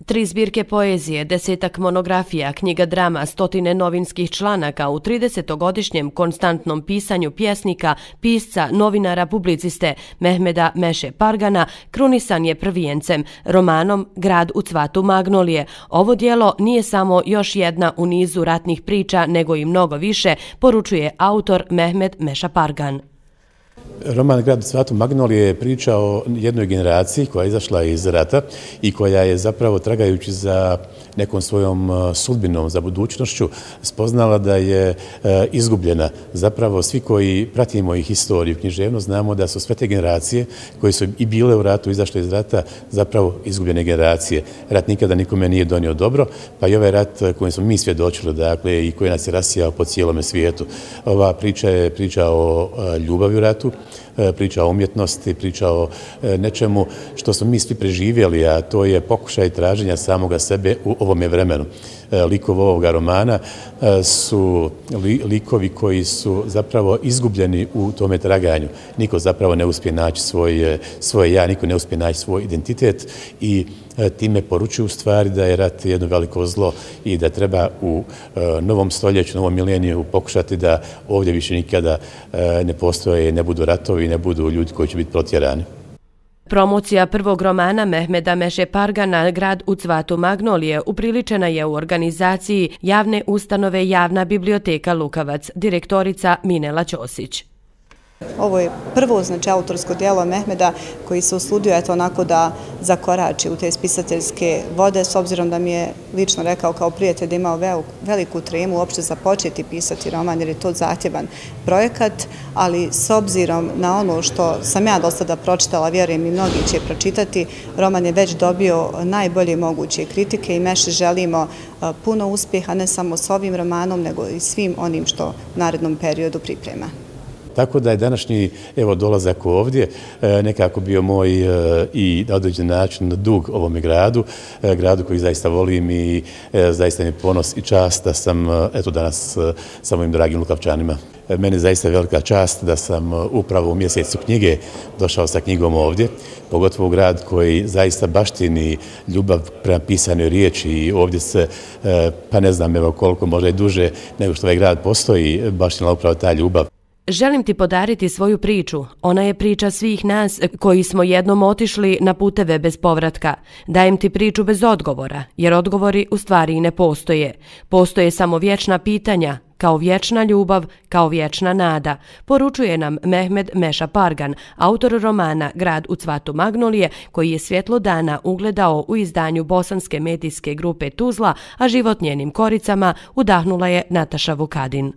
3 zbirke poezije, 10-ak monografija, knjiga drama, 100 novinskih članaka u 30-godišnjem konstantnom pisanju pjesnika, pisca, novinara, publiciste Mehmeda Meše Pargana krunisan je prvijencem, romanom Grad u cvatu magnolije. Ovo djelo nije samo još jedna u nizu ratnih priča, nego i mnogo više, poručuje autor Mehmed Meša Pargan. Roman Grad u cvatu magnolije je priča o jednoj generaciji koja je izašla iz rata i koja je zapravo tragajući za nekom svojom sudbinom, za budućnošću, spoznala da je izgubljena. Zapravo svi koji pratimo i historiju, književnost, znamo da su sve te generacije koje su i bile u ratu, izašle iz rata, zapravo izgubljene generacije. Rat nikada nikome nije donio dobro, pa i ovaj rat kojem smo mi svjedočili, dakle, i koji nas je rasijao po cijelome svijetu. Ova priča je priča o ljubavi u ratu, priča o umjetnosti, priča o nečemu što smo mi svi preživjeli, a to je pokušaj traženja samoga sebe u ovome vremenu. Likovi ovoga romana su likovi koji su zapravo izgubljeni u tome traganju. Niko zapravo ne uspije naći svoje ja, niko ne uspije naći svoj identitet i time poručuju u stvari da je rat jedno veliko zlo i da treba u novom stoljeću, novom mileniju pokušati da ovdje više nikada ne postoje, ne budu ratovi, ne budu ljudi koji će biti protjerani. Promocija prvog romana Mehmeda Meše Pargana Grad u cvatu magnolije upriličena je u organizaciji javne ustanove Javna biblioteka Lukavac, direktorica Minela Ćosić. Ovo je prvo, autorsko djelo Mehmeda koji se usudio onako da zakorači u te spisateljske vode, s obzirom da mi je lično rekao kao prijatelj da imao veliku tremu uopšte započeti pisati roman jer je to zahtjevan projekat, ali s obzirom na ono što sam ja do sada pročitala, vjerujem i mnogi će pročitati, roman je već dobio najbolje moguće kritike i Meši želimo puno uspjeha ne samo s ovim romanom, nego i svim onim što u narednom periodu priprema. Tako da je današnji dolazak ovdje nekako bio moj i na određen način dug ovome gradu koji zaista volim i zaista mi je ponos i čast da sam danas sa mojim dragim Lukavčanima. Meni je zaista velika čast da sam upravo u mjesecu knjige došao sa knjigom ovdje, pogotovo u grad koji zaista baštini ljubav prema pisanoj riječi i ovdje se, pa ne znam koliko, možda i duže nego što ovaj grad postoji, baštinila upravo ta ljubav. Želim ti podariti svoju priču. Ona je priča svih nas koji smo jednom otišli na puteve bez povratka. Dajem ti priču bez odgovora, jer odgovori u stvari i ne postoje. Postoje samo vječna pitanja, kao vječna ljubav, kao vječna nada, poručuje nam Mehmed Meša Pargan, autor romana Grad u cvatu magnolije, koji je svjetlo dana ugledao u izdanju bosanske medijske grupe Tuzla, a život njenim koricama udahnula je Nataša Vukadin.